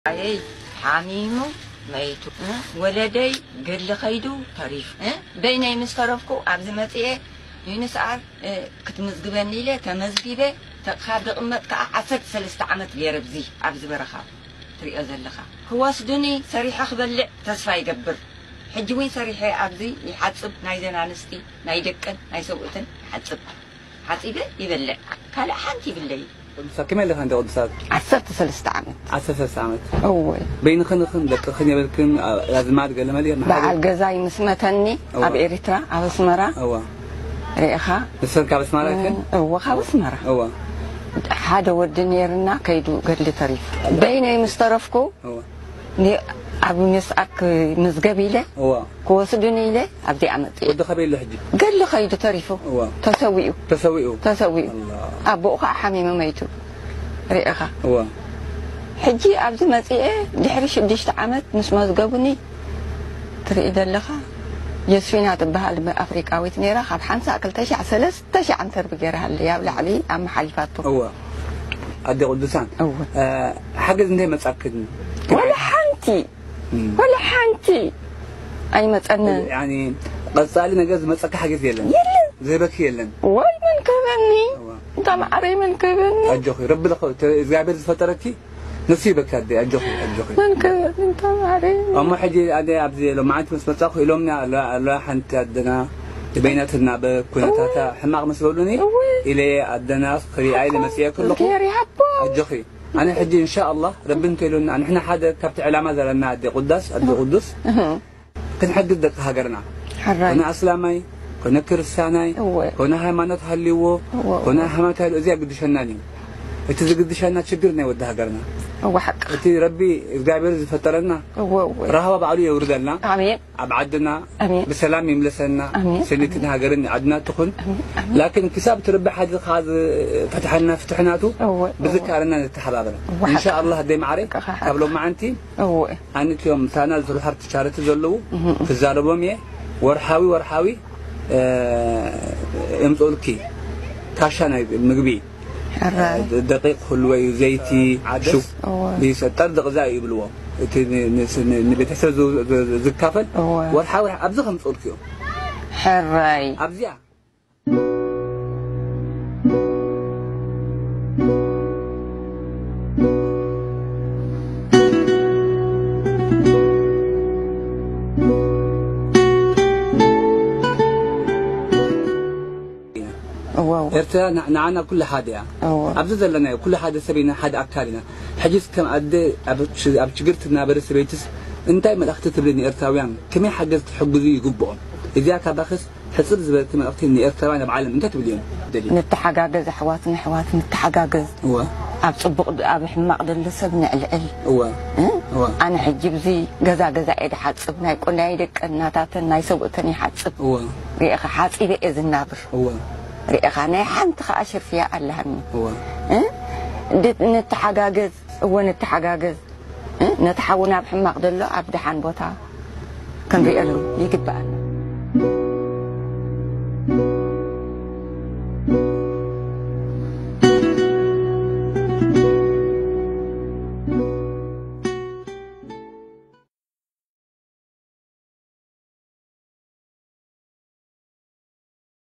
ኣየይ ሓሚሙ መይቱ፣ እ? ወለደይ ገድሊ ኸይዱ ተሪፉ፣ እ? በይነይ ምስ ተረፍኩ ኣብዚ መጽኤ ዩኒስኣር፣ እ፣ ክትምዝግበኒ ኢለ ተመዝጊበ። ተ-፣ ካብ ዝቕመጥ ከኣ ዓሰርተ ሰለስተ ዓመት ገይረ ኣብዚ፣ ኣብዚ በረኻ ትሪኦ ዘለኻ። ክወስዱኒ ሰሪሐ ክበልዕ ተስፋ ይገብር። ሕጂ እውን ሰሪሐ ኣብዚ ይሓጽብ፣ ናይ ዘን ኣንስቲ፣ ናይ ደቅን ናይ ሰብኡትን ይሓጽብ። ሓጺበ ይበልዕ። ካልእ ሓንቲ ይብለይ። ቅዱሳት ከመይ ኣለኻ እንደ ቅዱሳት? ዓሰርተ ሰለስተ ዓመት። ዓሰርተ ሰለስተ ዓመት። እወ። በይንኽን ኢኽን ደቅኽን የብልክን፣ ኣ-፣ ኣዝማድ ገለ መለ የብልክን? በዓል ገዛይ ምስ መተኒ እወ። ኣብ ኤሪትራ፣ ኣብ ኣስመራ። እወ። ርኢኻ? ንሰን ካብ ኣስመራ ኢኽን? እወ፣ ካብ ኣስመራ። እወ። ሓደ ወዲ ነይርና ከይዱ ገድሊ ተሪፉ። በይነይ ምስ ተረፍኩ እወ። ኒ-፣ ኣብ ዩኔስኣር ክምዝገብ ኢለ፣ እዋ። ክወስዱኒ ኢለ ኣብዚኣ መጽየ። ወዲ ኸበይ ኣሎ ሕጂ? ገድሊ ኸይዱ ተሪፉ። እዋ። ተሰዊኡ። ተሰዊኡ? ተሰዊኡ። ኣላ። ኣቦኡ ኸዓ ሓሚሙ መይቱ። ርኢኻ። እዋ። ሕጂ ኣብዚ መጽየ ድሕሪ ሽዱሽተ ዓመት ምስ መዝገቡኒ ትርኢ ዘለኻ፣ የስፊና ትበሃል ኣፍሪቃዊት ነይራ፣ ካብ ሓንሳእ ክልተ ሺሕ ሰለስተ ሺሕ ዓንተርቢ ገይራሃለይ፣ ኣብ ላዕሊ ኣመሓሊፋቶ። እዋ። ኣደ ቅዱሳን፣ እወ። እ፣ ሓገዝ እንታይ መጻክን? ወላ ሓንቲ፣ እም። ወላ ሓንቲ ኣይመጸንን። ያኒ፣ ቀጻሊ ነገር ዝመጸካ ሓገዝ የለን? የለን። ዝህበኪ የለን? ወይ መን ክህበኒ? እዋ። እንታ ማዕረይ መን ክህበኒ? ኣጆኺ፣ ረቢ ለኸ-፣ ተ-፣ እግዚኣብሔር ዝፈጠረኪ ንሱ ይበካ ኣደ፣ ኣጆኺ፣ ኣጆኺ። መን ክህበኒ እንታ ማዕረይ? እሞ ሕጂ ኣደ ኣብዚ ሎማዓንቲ ምስ መጻኹ ኢሎምና ኣሎ፣ ኣሎ ሓንቲ ኣደና በይናትና በኩነታታ እወ። ሕማቕ ምስ በሉኒ እወ። ኢለ ኣደና ክሪኣ ኢለ መጽየ ከለኹ እግዚኣብሔር ይሃቦ። ኣጆኺ። ኣነ ሕጂ እንሻኣላህ ረቢ እንተኢሉና ንሕና ሓደ ካብቲ ዕላማ ዘለና ኣደ ቅዳስ፣ ኣደ ቅዱስ እህ። ክንሕግዝ ደቂ ሃገርና። ሕራይ። ኮነ ኣስላማይ፣ ኮነ ክርስቲያናይ፣ እወ። ኮነ ሃይማኖት ሃልይዎ፣ እወ፣ እወ። ኮነ ሃይማኖት ሃልይዎ፣ እዚኣ ግድሸናን እዩ። እቲ ዝግድሸና ችግር ናይ ወዲ ሃገርና። እወ፣ ሓቅኻ። እቲ ረቢ እግዚኣብሔር ዝፈጠረና እወ፣ እወ። ራህዋ ባዕሉ የውርደልና። ኣሜን። ኣብ ዓድና ኣሜን። ብሰላም ይምለሰና። ኣሜን። ሰኒትን ሃገርን ዓድና ትኹን። ኣሜን፣ ኣሜን። ላኪን ክሳብ እቲ ረቢ ሓደ ኸዓ ዝፈትሐልና ፍትሕናቱ እወ፣ እወ። ብዝካረና ንተሓባበረ። እወ፣ ሓቅኻ። እንሻኣላህ ኣደይ ማዕረይ ሓቅኻ፣ ካብ ሓቅኻ። ሎማዓንቲ እወ። ኣንትዮም ሳና ዝሰርሑ ሃርቲ ቻረቲ ዘለዉ እህ፣ እህ። ክዛረቦም እየ። ወርሓዊ፣ ወርሓዊ፣ እ፣ የምጽኡልኪ ካሻ ናይ ምግቢ፣ ሕራይ። እ፣ ደቂቕ ህልወዩ፣ ዘይቲ፣ ዓደስ፣ ሽው-፣ እወ። ቢሰ-፣ ጠርዲ ገዛ እዩ ይብልዎ። እቲ ን-፣ ን-፣ ን-፣ ንቤተሰብ ዝ-፣ ዝ-፣ ዝ-፣ ዝካፈል እወ። ወርሓዊ፣ ወርሓዊ ኣብዚ ከምጽኡልኪ እዮም። ሕራይ። ኣብዚኣ እወ፣ እወ። ኤርትራ ን-፣ ንዓና ኩሉ ሓደ እያ። እወ። ኣብዚ ዘለናዮ ኩሉ ሓደ ሰብ ኢና፣ ሓደ ኣካል ኢና። ሕጂስ ከም ኣደ ኣብ ች-፣ ኣብ ችግር ትናበረ ሰበይትስ እንታይ መልእኽቲ ትብሊ ንኤርትራውያን? ከመይ ሓገዝ ክሕግዙ ይግብኦም? እዚኣ ካባኽስ ሕጽር ዝበለት መልእኽቲ ንኤርትራውያን ኣብ ዓለም እንታይ ትብልዮም? ደሊ። ንተሓጋገዝ ኣሕዋት ንኣሕዋት ንተሓጋገዝ። እወ። ኣብ ጽቡቕ ድ-፣ ኣብ ሕማቕ ደሎ ሰብ ንዕልዕል። እወ። እ? እወ። ኣነ ሕጂ ብዚ ገዛ ገዛ እየ ድሓጽብ፣ ናይ ቆ-፣ ናይ ደቀን ናታተን ናይ ሰብኡተን ይሓጽብ። እወ። ርኢኻ ሓጺበ እየ ዝናብር። እወ። ርኢኻ ናይ ሓንቲ ኸኣ ሽርፍያ ኣለሃኒ። እወ። እ? ድ-፣ ንተሓጋገዝ፣ እወ ንተሓጋገዝ። እ? ነቲ ሓውና ኣብ ሕማቕ ደሎ ኣብ ደሓን ቦታ ክንሪኤሉ ይግብኣና።